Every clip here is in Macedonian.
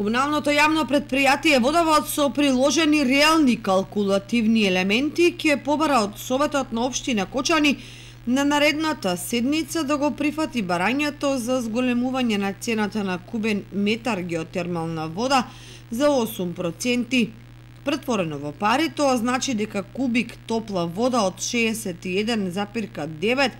Комуналното јавно предпријатие Водовод со приложени реални калкулативни елементи ќе побара од Советот на општина Кочани на наредната седница да го прифати барањето за зголемување на цената на кубен метар геотермална вода за 8%. Претворено во пари, тоа значи дека кубик топла вода од 61,9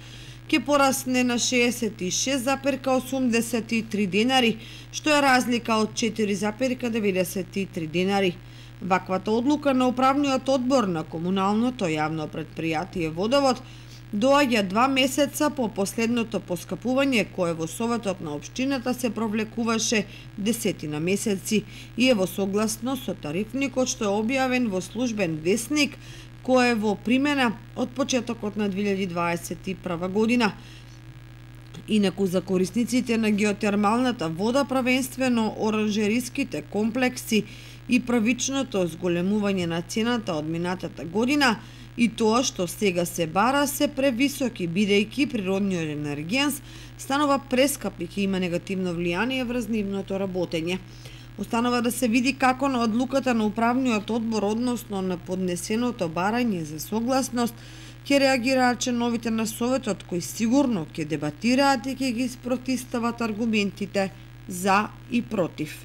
ќе порасне на 66,83 денари, што е разлика од 4,93 денари. Ваквата одлука на управниот одбор на комуналното јавно предпријатие Водовод доаѓа 2 месеца по последното поскапување кое во Советот на општината се провлекуваше 10 месеци и е во согласно со тарифникот што е објавен во службен весник кој е во примена од почетокот на 2021 година. Инаку за корисниците на геотермалната вода, правенствено оранжериските комплекси и правичното зголемување на цената од минатата година и тоа што сега се бара се превисоки, бидејќи природниот енергијанс станува прескап и ќе има негативно влијание врз нивното работење. Останува да се види како на одлуката на управниот одбор, односно на поднесеното барање за согласност, ќе реагираат членовите на Советот, кои сигурно ќе дебатираат и ќе ги спротистават аргументите за и против.